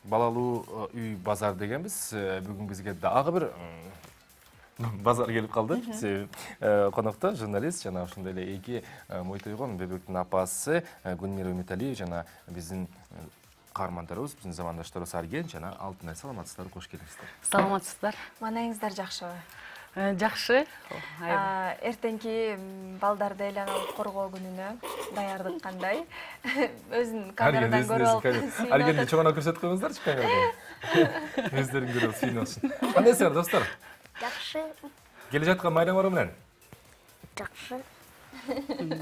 балалуу үй базар дегенбиз. Бүгүн бизге дагы бир базар келип калды. Конокто журналист жана ошондой эле эки мойт ойгон бебектин апасы Гүлмира Үмүталиева жана биздин каармандарыбыз, биздин замандаштарыбыз Арген жана Алтынай. Саламатсыздарбы? Кош келиңиздер. Саламатсыздар. Маанайыңыздар жакшыбы? Жакшы. Эртеңки балдарды айланып коргоо күнүнө даярдык кандай? Өзүн камерадан көрүп алып. Аргенди чоңоно көрсөтүп коюңуздарчы камерадан. Өздөрүң көрүп сүйүнөсүн. Кандайсыңар достор? Жакшы. Келе жаткан майрамыңар менен? Жакшы.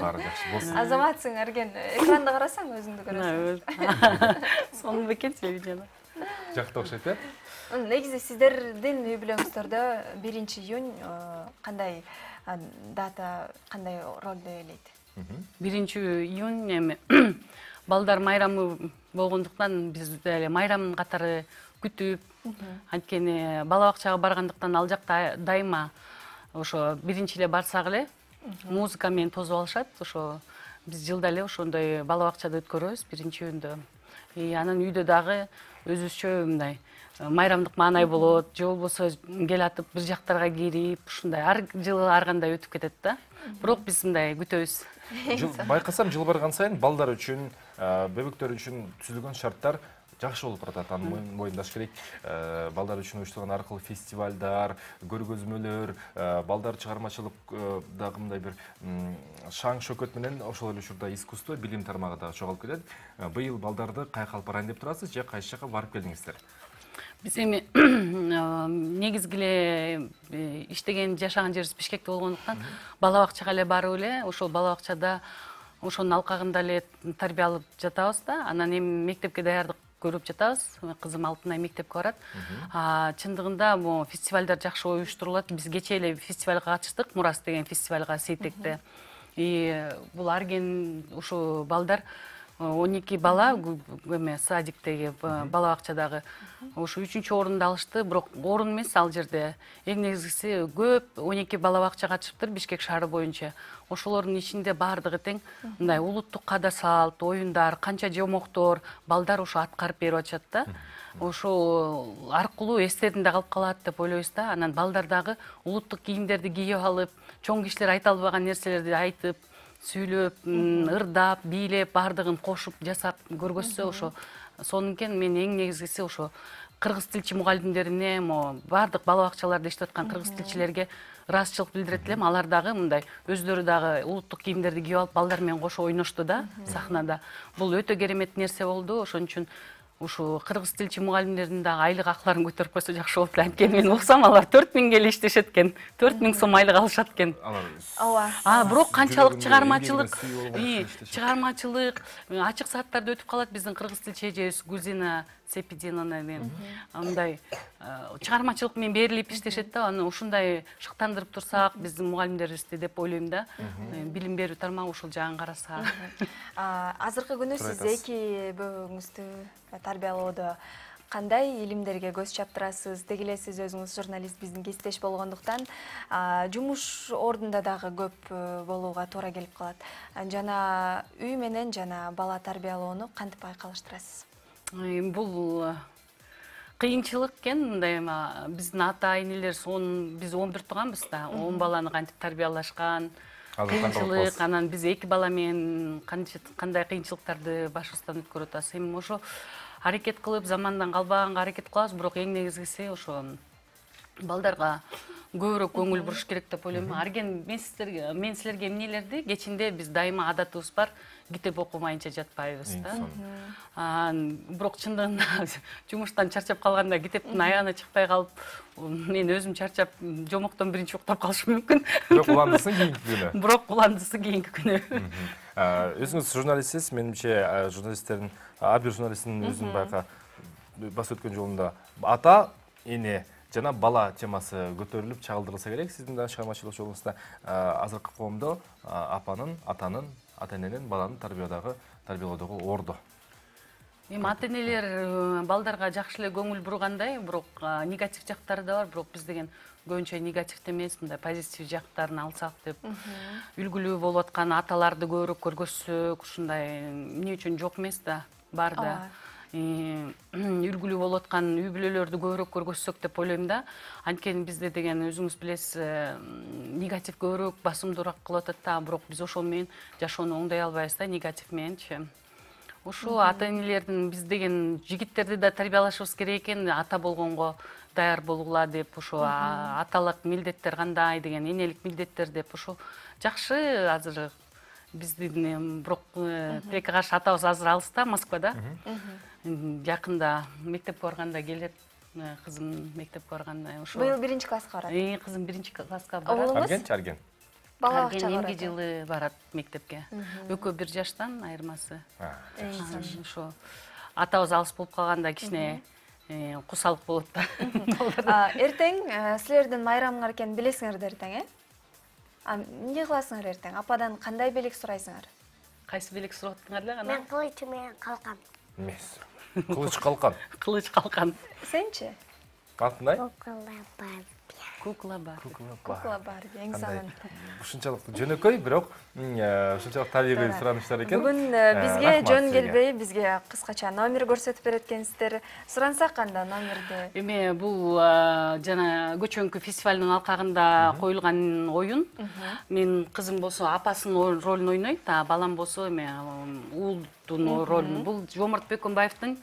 Баары жакшы болсун. Азаматсың, Арген. Экранда карасаң өзүңдү көрөсүң. Сонун бекет жана. Жакты окшойт, э? Негизи сиздердин үй бүлөңүздөрдө 1-июнь кандай дата, кандай ролду ээлейт? 1-июнь эми балдар майрамы болгондуктан биз деле майрам катары күтүп, анткени бала бакчага баргандыктан ал жакта дайыма ошо биринчи эле барсак эле музыка менен тосуп алышат. Ошо биз жылда эле ошондой бала бакчада өткөрөбүз 1-июньдө. Анан үйдө дагы өзүбүзчө мындай майрамдык маанай болот, же болбосо келатып бир жактарга кирип, ушундай ар жылы ар кандай өтүп кетет да. Бирок биз мындай күтөбүз. Байкасам жыл барган сайын балдар үчүн, бебектер үчүн түзүлгөн шарттар жакшы болуп баратат. Аны моюндаш керек. Балдар үчүн уюштурган ар кыл фестивалдар, көргөзмөлөр, балдар чыгармачылык дагы мындай бир шаң шөкөт менен ошол эле учурда искусство, билим тармагы да чогулуп кетет. Быйыл балдарды кайка алып барайын деп турасыз же кайсы жака барып келдиңиздер? Биз эми негизги эле иштеген, жашаган жерибиз Бишкекте болгондуктан бала бакчага эле барып эле, ошол бала бакчада ошонун алкагында эле тарбиялап жатабыз да. Анан эми мектепке даярдык көрүп жатабыз. Кызым Алтынай мектепке барат. Чындыгында бул фестивалдар жакшы уюштурулат. Биз кечээ эле фестивалга катыштык, Мурас деген фестивалга Сейтекте. Бул Арген ушу балдар 12 бала эме садиктеги бала бакчадагы ушу 3-орунду алышты. Бирок орун эмес ал жерде. Эң негизгиси көп 12 бала бакча катышыптыр Бишкек шаары боюнча. Ошолордун ичинде баардыгы тең мындай улуттук када салт, оюндар, канча жомоктор балдар ушу аткарып берип атышат да. Ошол аркылуу эстеринде калып калат деп ойлойбуз да. Анан балдар дагы улуттук кийимдерди кийип алып, чоң кишилер айта албаган нерселерди айтып, сүйлөп, ырдап, бийлеп, баардыгын кошуп, жасап көргөзсө ошо сонун экен. Мен эң негизгиси ошо кыргыз тилчи мугалимдерине, баардык бала бакчаларда иштеп аткан кыргыз тилчилерге ыраазычылык билдирет элем. Алар дагы мындай өздөрү дагы улуттук кийимдерди кийип алып, балдар менен кошо ойношту да сахнада. Бул өтө керемет нерсе болду. Ошон үчүн ушу кыргыз тилчи мугалимдердин дагы айлык акларын көтөрүп койсо жакшы болот. Анткени мен уксам алар 4000 эле иштешет экен. 4000 сом айлык алышат экен. Ооба. Бирок канчалык чыгармачылык, ачык сааттарда өтүп калат биздин кыргыз тилчи эжебиз Гүлзина Сепидиновна мындай чыгармачылык менен берилип иштешет да. Аны ушундай шыктандырып турсак биздин мугалимдерибизди деп ойлойм да. Билим берүү тармагы ушул жагын караса. Азыркы күнү сиз эки бөбөгүңүздү тарбиялоодо кандай илимдерге көз чаптырасыз? Деги эле сиз өзүңүз журналист, биздин кесиптеш болгондуктан жумуш ордунда дагы көп болууга туура келип калат. Жана үй менен жана бала тарбиялоону кантип айкалыштырасыз? Бул кыйынчылык экен. Мындай биздин ата энелер биз 11 тууганбыз да. 10 баланы кантип тарбиялашкан, кыйынчылык. Анан биз 2 бала менен кандай кыйынчылыктарды башыбыздан өткөрүп атабыз. Эми ошо аракет кылып, замандан калбаганга аракет кылабыз. Бирок эң негизгиси ошо балдарга көбүрөөк көңүл буруш керек деп ойлойм. Арген, мен силерге эмнелерди кечинде биз дайыма адатыбыз бар, китеп окумайынча жатпайбыз да. Бирок чындыгында жумуштан чарчап калганда китептин аягына чыкпай калып, мен өзүм чарчап жомоктон биринчи уктап калышым мүмкүн. Бирок уландысы кийинки күнү. Бирок уландысы кийинки күнү. Өзүңүз журналистсиз, менимче журналисттердин ар бир журналисттин өзүнүн байка басып өткөн жолунда ата, эне жана бала темасы көтөрүлүп чагылдырылса керек. Сиздин да чыгармачылык жолуңузда азыркы коомдо апанын, атанын, ата-эненин баланы тарбиялоодогу орду. Эми ата-энелер балдарга жакшы эле көңүл бургандай, бирок негатив жактары да бар. Бирок биз деген көбүнчө негативде эмес, мындай позитив жактарын алсак деп. Үлгүлүү болуп аткан аталарды көбүрөөк көргөзсөк, ушундай эмне үчүн жок эмес да, бар да. үлгүлүү болуп аткан үй бүлөлөрдү көбүрөөк көргөзсөк деп ойлойм да. Анткени бизде деген өзүңүз билесиз, негатив көбүрөөк басымдуураак кылып атат да, бирок биз ошол менен жашоону оңдой албайбыз да, негатив мененчи. Ошо ата-энелердин биз деген жигиттерди да тарбиялашыбыз керек экен, ата болгонго даяр болгула деп, ошо аталык милдеттер кандай деген, энелик милдеттер деп, ошо жакшы. Азыр биздин бирок тилекке каршы атабыз азыр алыста, Москвада. Жакында мектепке барганда келет, кызым мектепке барганда. Ошо Быйыл 1-класска барат. Кызым 1-класска барат. Оглуңуз? Арген. Бала бакчага Эмки барат. жылы барат мектепке. Экөө 1 жаштан айырмасы. Ошо атабыз алыс болуп калганда кичине кусалык болот да. Эртең силердин майрамыңар экенин билесиңер да эртең, эмне кыласыңар эртең? Ападан кандай белек сурайсыңар? Кайсы белек сурап аттыңар эле кана? Мен кылычы менен калкам. Эмес. Кылыч калкан. Кылыч калкан. Сенчи? Кантындай? Кукла бар. Кукла бар, эң сонун. Ушунчалык жөнөкөй, бирок ушунчалык табигый суранычтар экен. Бүгүн бизге жөн келбей, бизге кыскача номер көрсөтүп берет экенсиздер. Сурансак кандай номерди? Эме бул жана көчөңкү фестивалдын алкагында коюлган оюн. Мен кызым болсо апасынын ролун ойнойт, балам болсо эме уулдун ролун. Бул Жомарт Бекөнбаевдин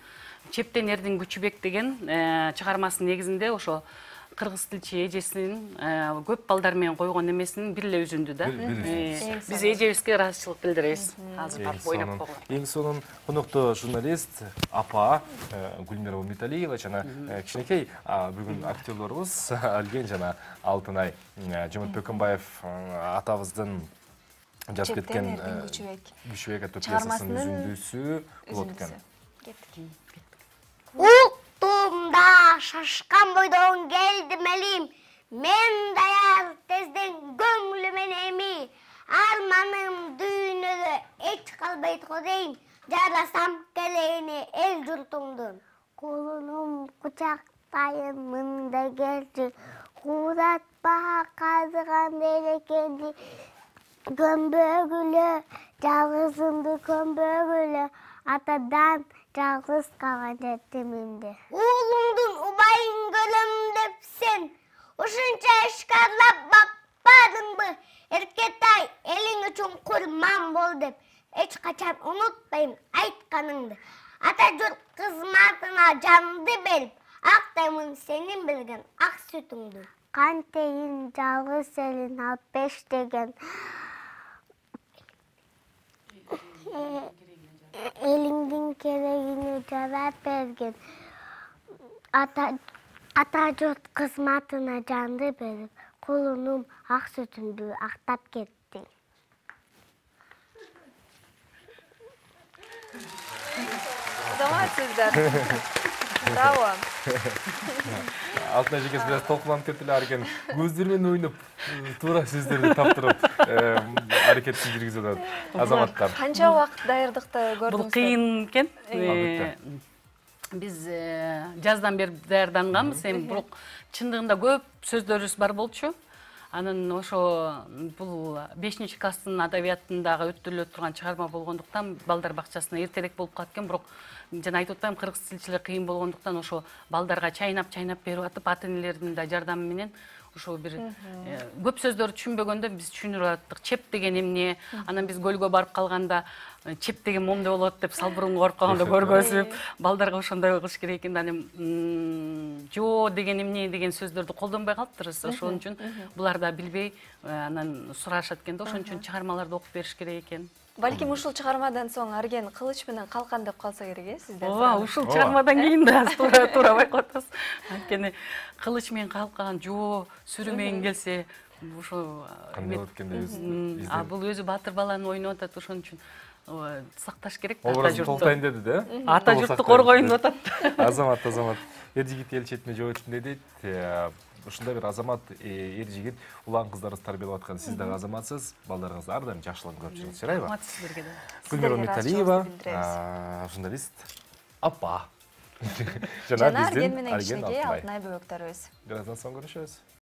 Чептен эрдин күчүбек деген чыгармасынын негизинде ошо кыргыз тилчи эжесинин көп балдар менен койгон эмесин бир эле үзүндү да. Биз эжебизге ыраазычылык билдиребиз. Азыр барып ойноп койгон. Эң сонун конуктуу журналист апа Гүлмира Умиталиева жана кичинекей бүгүн актерлорубуз Арген жана Алтынай. Жомарт Бекөнбаев атабыздын жазып кеткен Күчүбек атты пьесасынын үзүндүсү болот экен. Уктумда шашкан бойдон келдим элим, мен даяр тезден көңлүмөн эми, арманым дүйнөдө эч калбайт го дейм, жарасам келени эл журтуңдун. Колунум кучактайын мында келчи, кууратпа казыган берекенди, көмбөгүлө, жалгызымды көмбөгүлө, атадан жалгыз калган жетимимди. Уулуңдун убайын көрөм депсен, ушунча эшкарлап бакпадыңбы? Эркетай, элиң үчүн курман бол деп, эч качан унутпайм айтканыңды. Ата журт кызматына жанды берип, актаймын сенин берген ак сүтүңдү. Кантейин жалгыз элин алып бештеген, элиңдин керегине жарап берген, ата журт кызматына жанды берип, кулунум ак сүтүмдү актап кетти. Заматсыздар. Браво. Алтынай жекesi biraz толкунуп кетти эле Арген. Көздөр менен ойноп, туура сөздөрдү таптырып, аракетти жүргүзүп атат. Азаматтар. Канча убакыт даярдыкты көрдүңүз? Бул кыйын экен. Албетте. Биз жаздан бери даярданганбыз, эми бирок чындыгында көп сөздөрүбүз бар болчу. Анан ошо бул 5-класстын адабиятындагы өттүрүлө турган чыгарма болгондуктан балдар бакчасына эртерээк болуп калат экен, бирок жана айтып атпаймынбы, кыргыз тилчилер кыйын болгондуктан ошо балдарга чайнап берип атып, ата-энелердин да жардамы менен ошо бир көп сөздөрдү түшүнбөгөндө биз түшүндүрүп аттык. Чеп деген эмне? Анан биз көлгө барып калганда чеп деген момдой болот деп салбырууну коруп калганда көргөзүп, балдарга ошондой кылыш керек экен. Анан жоо деген эмне деген сөздөрдү колдонбой калыптырбыз. Ошон үчүн булар да билбей анан сурашат экен да, ошон үчүн чыгармаларды окуп бериш керек экен. Балким ушул чыгармадан соң Арген кылыч менен калкан деп калса керек, сиздер. Ооба, ушул чыгармадан кийин да туура байкап атасыз. Анткени кылыч менен калкан, жоо, сүрү менен келсе, ошо кандай болот экен деп бул өзү баатыр баланы ойноп атат, ошон үчүн сакташ керек да. Образын толтойн деди да? Ата журтту коргойн деп атат. Азамат. Эр жигит эл четине жоо үчүн дейт. Ушундай бир азамат, эр жигит улан кыздарыбыз тарбиялап аткан. Сиз дагы азаматсыз, балдарыңыз ар дайым жакшылыгын көрүп жүрүңүз, жарайбы? Рахмат сиздерге да. Гүлмира Умиталиева, журналист, апа. Жана Арген менен Алтынай. кичинекей Алтынай бөбөктөрүбүз. Бираздан соң көрүшөбүз.